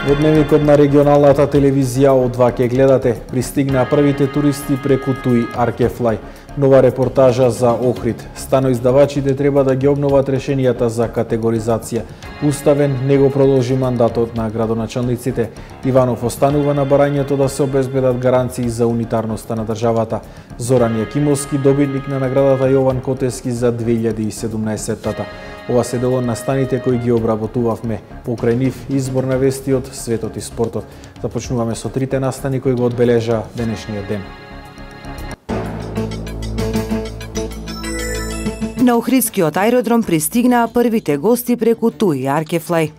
Во дневникот на регионалната телевизија О2 ќе гледате пристигна првите туристи преку Туи Аркефлај. Нова репортажа за Охрид. Станоиздавачите треба да ги обноват решенијата за категоризација. Уставен не го продолжи мандатот на градоначалниците. Иванов останува на барањето да се обезбедат гаранции за унитарноста на државата. Зоран Јакимовски, добитник на наградата Јован Котески за 2017-тата. Ова се дел од настаните кои ги обработувавме. Покрај нив избор на вести од светот и спортот. Започнуваме со трите настани кои го одбележа денешниот ден. На Охридскиот аеродром пристигнаа првите гости преку Туи Аркефлај.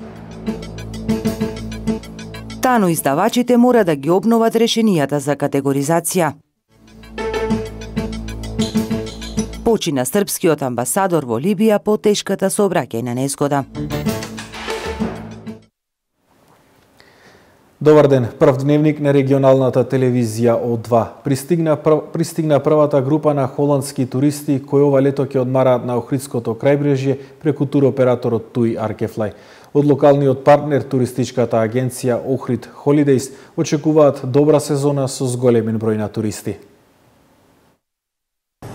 Тано издавачите мора да ги обноват решенијата за категоризација. Почина српскиот амбасадор во Либија по тешката сообраќајна незгода. Добар ден, прв дневник на регионалната телевизија О2. Пристигна првата група на холандски туристи кои ова лето ќе одмараат на Охридското крајбрежје преку туроператорот Туи Аркефлај. Од локалниот партнер туристичката агенција Охрид Холидејс очекуваат добра сезона со зголемен број на туристи.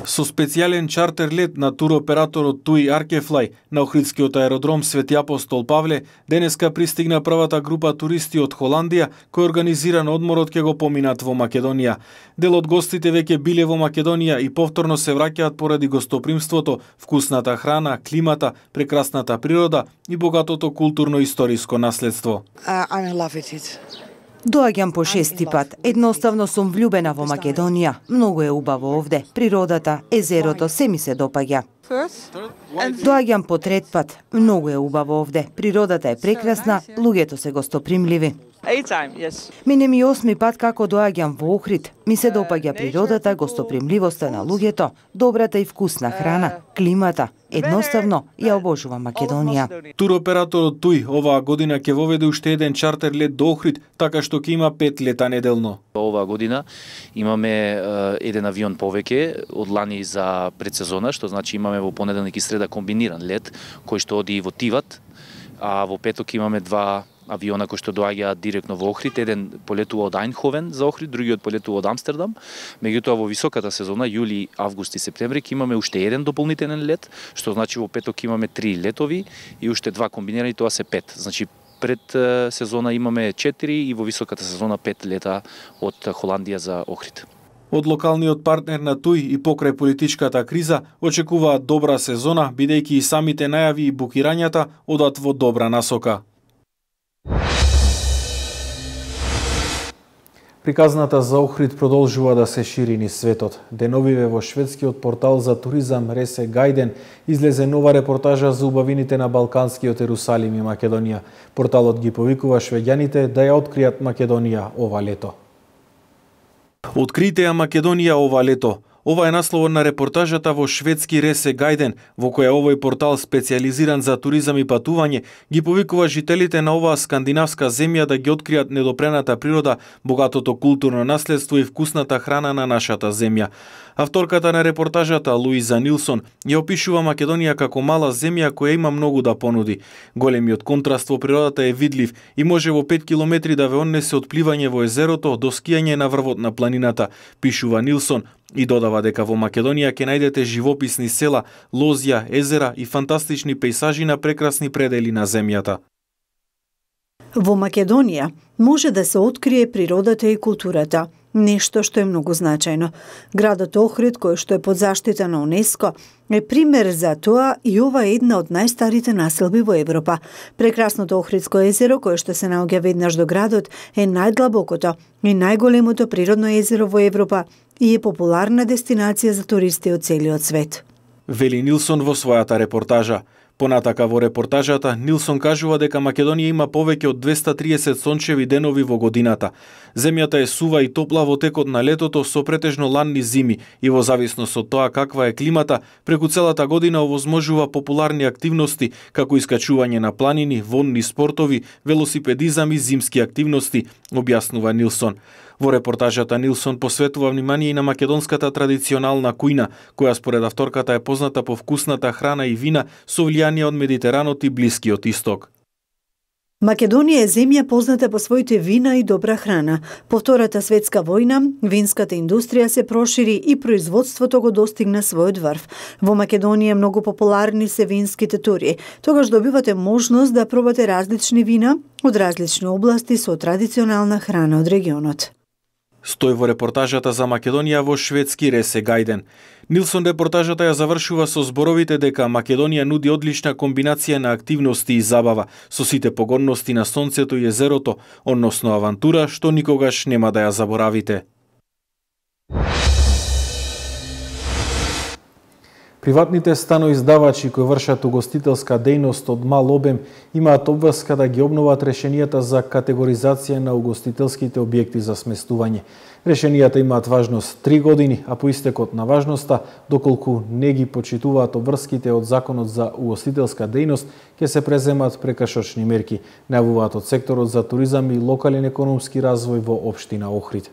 Со специјален чартер лет на туроператорот Туи Аркефлај на Охридскиот аеродром Свети Апостол Павле, денеска пристигна првата група туристи од Холандија, кој организиран одморот ќе го поминат во Македонија. Дел од гостите веќе биле во Македонија и повторно се враќаат поради гостопримството, вкусната храна, климата, прекрасната природа и богатото културно-историско наследство. Доаѓам по шести пат. Едноставно сум влюбена во Македонија. Многу е убаво овде. Природата, езерото, се ми се допаѓа. Доаѓам по трет пат. Многу е убаво овде. Природата е прекрасна, луѓето се гостопримливи. Мине ми 8 пат како доаѓам во Охрид. Ми се допаѓа природата, гостопримливоста на луѓето, добрата и вкусна храна, климата. Едноставно ја обожувам Македонија. Туроператорот Туи оваа година ќе воведе уште еден чартер лет до Охрид, така што ќе има 5 лета неделно. Оваа година имаме еден авион повеќе од лани за предсезона, што значи имаме во понеделник и среда комбиниран лет кој што оди во Тиват, а во петок имаме два авиона кои што доаѓаат директно во Охрид. Еден полетува од Ајнховен за Охрид, другиот полетува од Амстердам. Меѓутоа во високата сезона, јули, август и септември, ќе имаме уште еден дополнителен лет, што значи во петок имаме 3 летови и уште 2 комбинирани, тоа се 5. Значи пред сезона имаме 4 и во високата сезона 5 лета од Холандија за Охрид. Од локалниот партнер на Туи и покрај политичката криза очекуваат добра сезона, бидејќи и самите најави и букирањата одат во добра насока. Приказната за Охрид продолжува да се шири низ светот. Деновиве во шведскиот портал за туризам Ресе Гајден излезе нова репортажа за убавините на Балканскиот Ерусалим и Македонија. Порталот ги повикува швеѓаните да ја откријат Македонија ова лето. Открите ја Македонија ова лето. Ова е насловот на репортажата во шведски Ресе Гајден, во која овој портал специјализиран за туризам и патување ги повикува жителите на оваа скандинавска земја да ги откријат недопрената природа, богатото културно наследство и вкусната храна на нашата земја. Авторката на репортажата Луиза Нилсон ја опишува Македонија како мала земја која има многу да понуди. Големиот контраст во природата е видлив и може во 5 километри да ве однесе од пливање во езерото до скијање на врвот на планината, пишува Нилсон. И додава дека во Македонија ќе најдете живописни села, лозја, езера и фантастични пејсажи на прекрасни предели на земјата. Во Македонија може да се открие природата и културата, нешто што е многу значајно. Градот Охрид, кој што е под заштита на УНЕСКО, е пример за тоа и ова е една од најстарите населби во Европа. Прекрасното Охридско езеро, кое што се наоѓа веднаш до градот, е најдлабокото и најголемото природно езеро во Европа и е популарна дестинација за туристи од целиот свет. Вели Нилсон во својата репортажа. Понатака во репортажата, Нилсон кажува дека Македонија има повеќе од 230 сончеви денови во годината. Земјата е сува и топла во текот на летото со претежно ладни зими и во зависност од тоа каква е климата, преку целата година овозможува популарни активности како искачување на планини, водни спортови, велосипедизам и зимски активности, објаснува Нилсон. Во репортажата Нилсон посветува внимание и на македонската традиционална кујна, која според авторката е позната по вкусната храна и вина со влијание од Медитеранот и Блискиот Исток. Македонија е земја позната по своите вина и добра храна. По Втората светска војна, винската индустрија се прошири и производството го достигна својот врв. Во Македонија многу популарни се винските тури. Тогаш добивате можност да пробате различни вина од различни области со традиционална храна од регионот. Стој во репортажата за Македонија во шведски Ресе Гајден. Нилсон репортажата ја завршува со зборовите дека Македонија нуди одлична комбинација на активности и забава, со сите погодности на сонцето и езерото, односно авантура што никогаш нема да ја заборавите. Приватните станоиздавачи кои вршат угостителска дејност од мал обем имаат обврска да ги обноват решенијата за категоризација на угостителските објекти за сместување. Решенијата имаат важност 3 години, а по истекот на важноста, доколку не ги почитуваат обврските од Законот за угостителска дејност, ќе се преземат прекршочни мерки, најавуваат од секторот за туризам и локален економски развој во општина Охрид.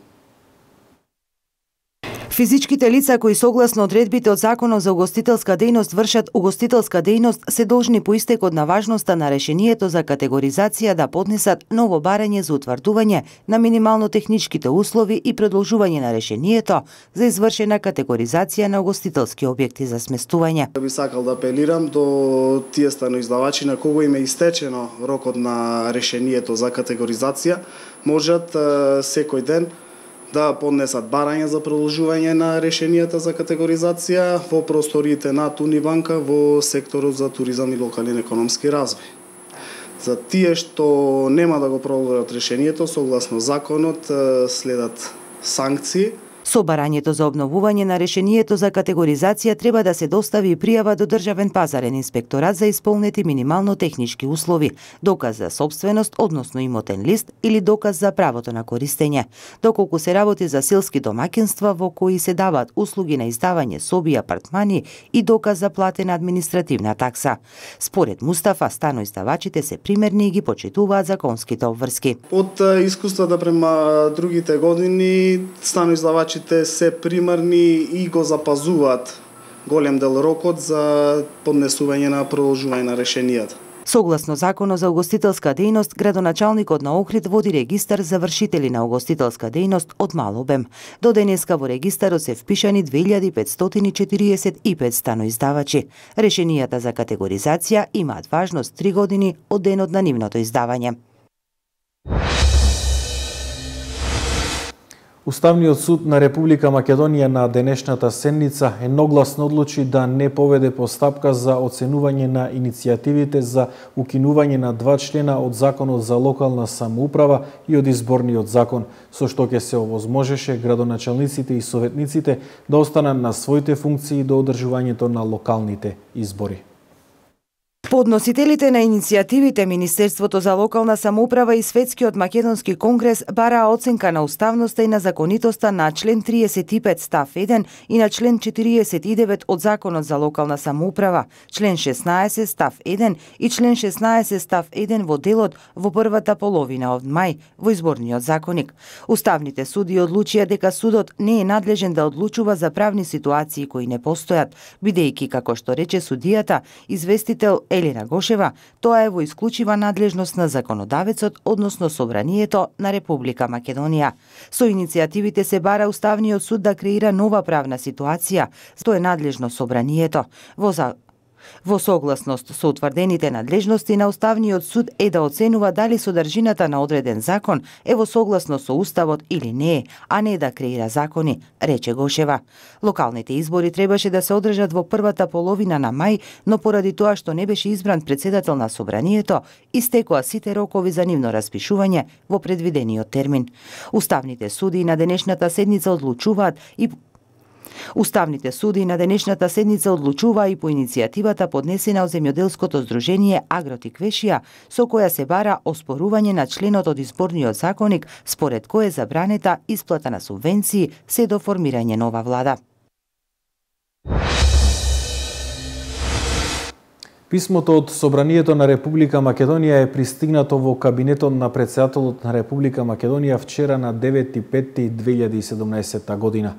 Физичките лица кои согласно одредбите од Законот за угостителска дејност вршат угостителска дејност се должни по истекот на важноста на решението за категоризација да поднесат ново барање за утврдување на минимално техничките услови и продолжување на решението за извршена категоризација на угостителски објекти за сместување. Би сакал да апелирам до тие станоиздавачи на кого им е истечено рокот на решението за категоризација, можат секој ден да поднесат барање за продолжување на решенијата за категоризација во просториите на Унибанка во секторот за туризам и локален економски развој. За тие што нема да го продолжат решението, согласно законот следат санкции. Со барањето за обновување на решението за категоризација треба да се достави и пријава до Државен пазарен инспекторат за исполнети минимално технички услови, доказ за сопственост, односно имотен лист или доказ за правото на користење. Доколку се работи за селски домаќинства во кои се даваат услуги на издавање соби и апартмани и доказ за платена административна такса. Според Мустафа, станоиздавачите се примерни и ги почитуваат законските обврски. Од искуствата према другите години, станоиздавачи се примерни и го запазуваат голем дел рокот за поднесување на продолжување на решенијата. Согласно Законот за угостителска дејност, градоначалникот на Охрид води регистар за вршители на угостителска дејност од мал обем. До денеска во регистарот се впишани 2545 станоиздавачи. Решенијата за категоризација имаат важност 3 години од денот на нивното издавање. Уставниот суд на Република Македонија на денешната седница едногласно одлучи да не поведе постапка за оценување на иницијативите за укинување на 2 члена од Законот за локална самоуправа и од Изборниот закон, со што ќе се овозможеше градоначалниците и советниците да останат на своите функции до одржувањето на локалните избори. Подносителите на иницијативите Министерството за локална самоуправа и Светскиот македонски конгрес бараа оценка на уставноста и на законитоста на член 35 став 1 и на член 49 од Законот за локална самоуправа, член 16 став 1 и член 16 став 1 во делот во првата половина од мај во Изборниот законник. Уставните суди одлучија дека судот не е надлежен да одлучува за правни ситуации кои не постојат, бидејќи, како што рече судијата, известител Елена Гошева, тоа е во исклучива надлежност на законодавецот, односно Собранието на Република Македонија. Со иницијативите се бара Уставниот суд да креира нова правна ситуација, што е надлежно Собранието. Во согласност со утврдените надлежности на Уставниот суд е да оценува дали содржината на одреден закон е во согласност со Уставот или не е, а не да креира закони, рече Гошева. Локалните избори требаше да се одржат во првата половина на мај, но поради тоа што не беше избран председател на Собранието, истекоа сите рокови за нивно распишување во предвидениот термин. Уставните суди на денешната седница одлучуваат и по иницијативата поднесена од земјоделското здружение Агротиквешија, со која се бара оспорување на членот од Изборниот законник, според кој е забранета исплата на субвенции се до формирање нова влада. Писмото од Собранието на Република Македонија е пристигнато во кабинетот на председателот на Република Македонија вчера на 9.5.2017 година.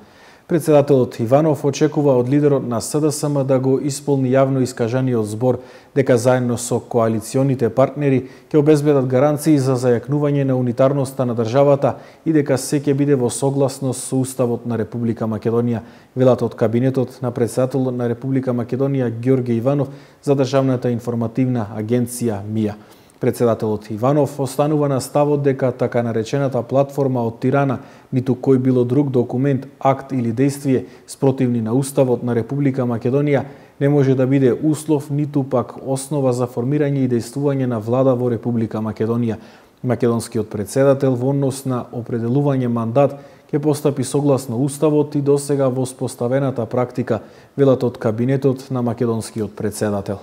Председателот Иванов очекува од лидерот на СДСМ да го исполни јавно искажаниот збор дека заедно со коалиционите партнери ќе обезбедат гаранции за зајакнување на унитарноста на државата и дека се ќе биде во согласност со Уставот на Република Македонија, велат од кабинетот на председателот на Република Македонија Ѓорѓе Иванов за државната информативна агенција МИА. Председателот Иванов останува на ставот дека така наречената платформа од Тирана, ниту кој било друг документ, акт или действие спротивни на Уставот на Република Македонија не може да биде услов ниту пак основа за формирање и действување на влада во Република Македонија. Македонскиот председател во однос на определување мандат ќе постапи согласно Уставот и досега воспоставената практика, велат од кабинетот на македонскиот председател.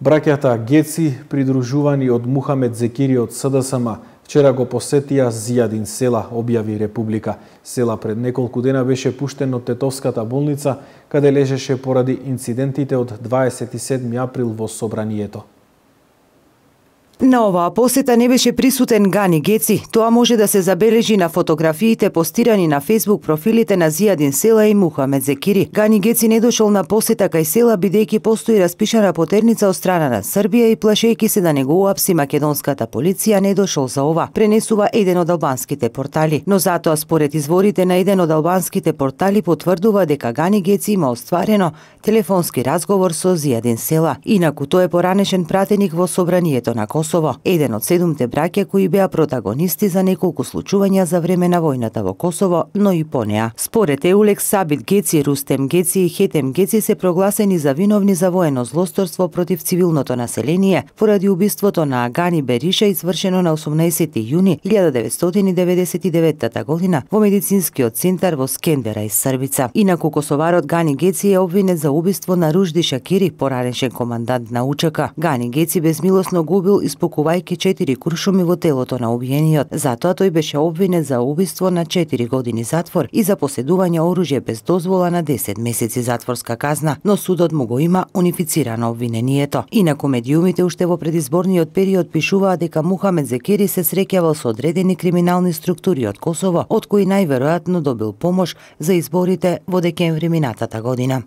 Браќата Геци, придружувани од Мухамед Зекири од СДСМ, вчера го посетија Зијадин села, објави Република. Села пред неколку дена беше пуштен од Тетовската болница, каде лежеше поради инцидентите од 27 април во собранието. На оваа посета не беше присутен Гани Геци. Тоа може да се забележи на фотографиите постирани на Facebook профилите на Зијадин села и Мухамед Зекири. Гани Геци не дошол на посета кај села бидејќи постои распишана потерница од страна на Србија и плашејќи се да не го уапси македонската полиција не дошол за ова, пренесува еден од албанските портали. Но затоа според изворите на еден од албанските портали потврдува дека Гани Геци има остварено телефонски разговор со Зијадин села. Инаку тој е поранешен пратеник во собранието на Косово, еден од 7 браќа кои беа протагонисти за неколку случувања за време на војната во Косово, но и по неа. Според Еулекс, Сабит Геци, Рустем Геци и Хетем Геци се прогласени за виновни за воено злосторство против цивилното население поради убиството на Агани Бериша извршено на 18 јуни 1999 година во медицинскиот центар во Скендера и Србица. Инаку косоварот Гани Геци е обвинет за убиство на Ружди Шакири, поранешен командант на УЧК. Гани Геци безмилосно го убил испукувајќи 4 куршуми во телото на убиениот. Затоа тој беше обвинет за убиство на 4 години затвор и за поседување оружје без дозвола на 10 месеци затворска казна, но судот му го има унифицирано обвинението. Инаку медиумите уште во предизборниот период пишуваа дека Мухамед Зекири се среќавал со одредени криминални структури од Косово, од кои најверојатно добил помош за изборите во декември минатата година.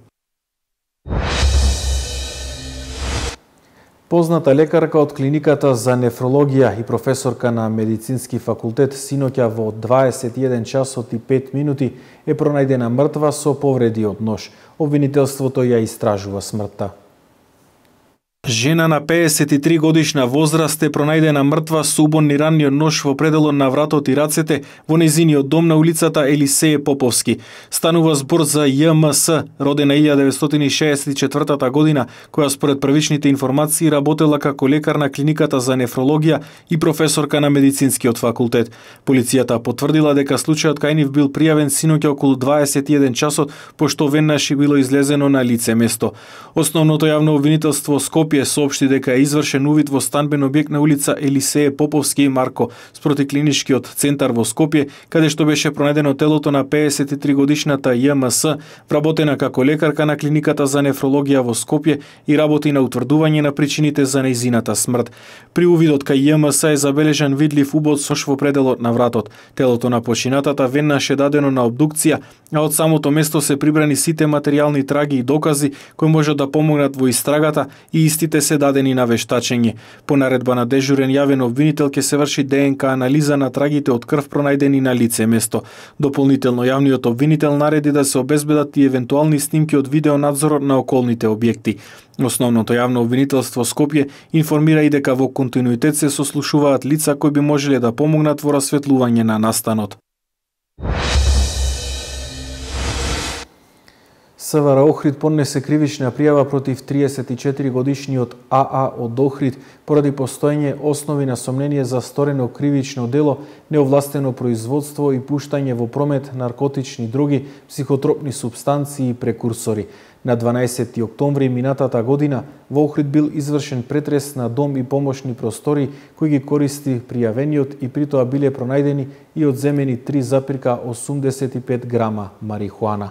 Позната лекарка од клиниката за нефрологија и професорка на медицински факултет синоќа во 21 часот и 5 минути е пронајдена мртва со повреди од нож. Обвинителството ја истражува смртта. Жена на 53 годишна возраст е пронајдена мртва со убонни ранни од нож во пределот на вратот и рацете во незиниот дом на улицата Елисеј Поповски. Станува збор за ЈМС, родена 1964 година, која според првичните информации работела како лекар на клиниката за нефрологија и професорка на медицинскиот факултет. Полицијата потврдила дека случајот кај нив бил пријавен синоќа околу 21 часот, пошто веднаш било излезено на лице место. Основното јавно обвинителство Скопје соопшти дека е извршен увид во станбен објект на улица Елисеј Поповски и Марко спроти клиничкиот центар во Скопје, каде што беше пронајдено телото на 53 годишната ЈМС, вработена како лекарка на клиниката за нефрологија во Скопје и работи на утврдување на причините за нејзината смрт. При увидот кај ЈМС е забележан видлив убод со во пределот на вратот. Телото на починатата веднаш е дадено на обдукција, а од самото место се прибрани сите материјални траги и докази кои можат да помогнат во истрагата и истите се дадени на вештачење. По наредба на дежурен јавен обвинител ќе се врши ДНК анализа на трагите од крв пронајдени на лице место. Дополнително јавниот обвинител нареди да се обезбедат и евентуални снимки од видеонадзорот на околните објекти. Основното јавно обвинителство Скопје информира и дека во континуитет се сослушуваат лица кои би можеле да помогнат во расветлување на настанот. СВР Охрид поднесе кривична пријава против 34 годишниот АА од Охрид поради постоење основи на сомнение за сторено кривично дело, неовластено производство и пуштање во промет наркотични дроги, психотропни супстанции и прекурсори. На 12 октомври минатата година во Охрид бил извршен претрес на дом и помошни простори кои ги користи пријавениот и притоа биле пронајдени и одземени 3,85 грама марихуана.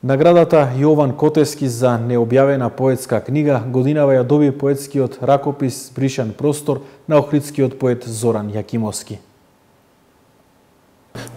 Наградата Јован Котески за необјавена поетска книга годинава ја доби поетскиот ракопис Бришан простор на охридскиот поет Зоран Јакимовски.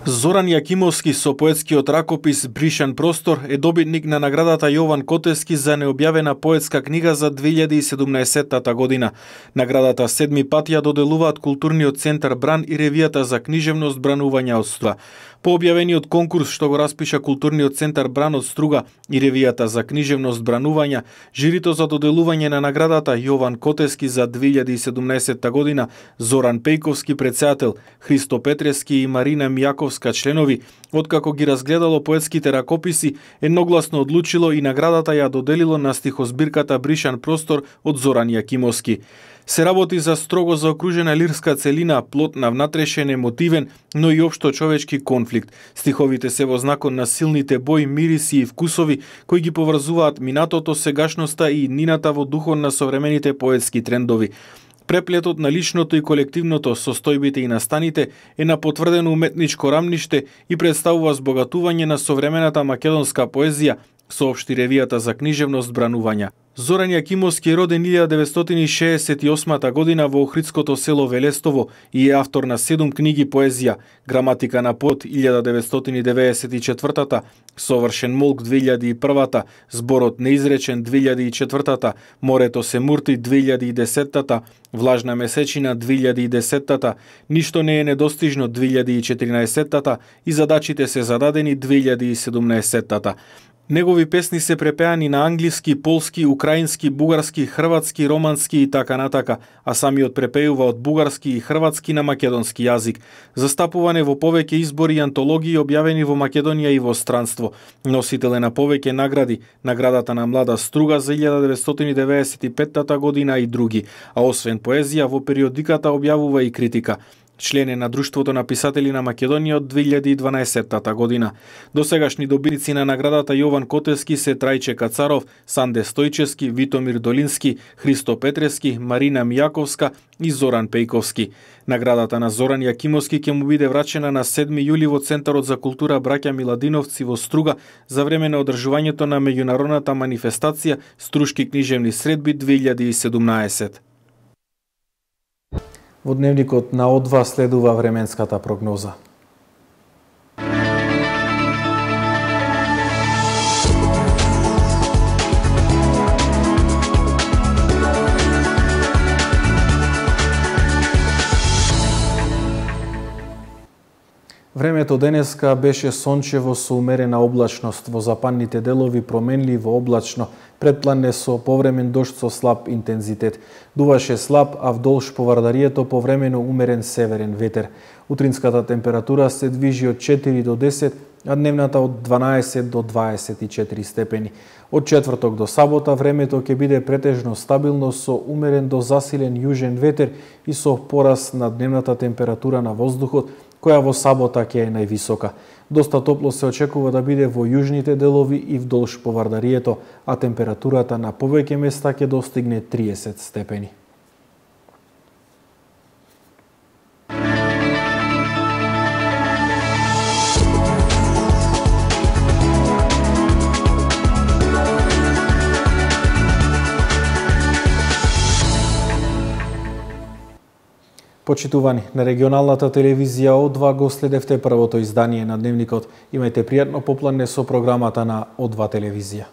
Зоран Јакимовски со поетскиот ракопис Бришан простор е добитник на наградата Јован Котески за необјавена поетска книга за 2017 година. Наградата седми пат ја доделуваат Културниот центар Бран и ревијата за книжевност Бранување од Струга. По објавениот конкурс што го распиша Културниот центар Бран од Струга и ревијата за книжевност Бранување, жирито за доделување на наградата Јован Котески за 2017 година, Зоран Пејковски председател, Христо Петрески и Марина Мијаковска членови, откако ги разгледало поетските ракописи, едногласно одлучило и наградата ја доделило на стихозбирката Бришан простор од Зоран Јакимовски. Се работи за строго заокружена лирска целина, плод на внатрешен емотивен, но и општо човечки конфликт. Стиховите се во знакот на силните бои, мириси и вкусови кои ги поврзуваат минатото, сегашноста и иднината во духот на современите поетски трендови. Преплетот на личното и колективното, состојбите и настаните е на потврдено уметничко рамниште и представува збогатување на современата македонска поезија, соопшти ревијата за книжевност Бранување. Зоран Јакимовски е роден 1968 година во охридското село Велестово и е автор на 7 книги поезија: Граматика на поет 1994, Совршен молк 2001, Зборот неизречен 2004, Морето се мурти 2010, Влажна месечина 2010, Ништо не е недостижно 2014 и Задачите се зададени 2017. Негови песни се препеани на англиски, полски, украински, бугарски, хрватски, романски и така натака, а самиот препејува од бугарски и хрватски на македонски јазик. Застапуване во повеќе избори и антологии објавени во Македонија и во странство. Носител е на повеќе награди, наградата на Млада Струга за 1995 година и други, а освен поезија во периодиката објавува и критика. Член е на Друштвото на писатели на Македонија од 2012 година. Досегашни добитници на наградата Јован Котески се Трајче Кацаров, Санде Стојчевски, Витомир Долински, Христо Петрески, Марина Мијаковска и Зоран Пејковски. Наградата на Зоран Јакимовски ќе му биде врачена на 7 јули во Центарот за култура Браќа Миладиновци во Струга за време на одржувањето на меѓународната манифестација Струшки книжевни средби 2017. Во дневникот на О2 следува временската прогноза. Времето денеска беше сончево со умерена облачност, во западните делови променливо облачно, предпланне со повремен дожд со слаб интензитет. Дуваше слаб, а вдолж по Вардарието повремено умерен северен ветер. Утринската температура се движи од 4 до 10, а дневната од 12 до 24 степени. Од четврток до сабота времето ќе биде претежно стабилно со умерен до засилен јужен ветер и со порас на дневната температура на воздухот, која во сабота ќе е највисока. Доста топло се очекува да биде во јужните делови и вдолж по Вардарието, а температурата на повеќе места ќе достигне 30 степени. Почитувани, на регионалната телевизија О2 го следевте првото издание на Дневникот. Имајте пријатно попладне со програмата на О2 телевизија.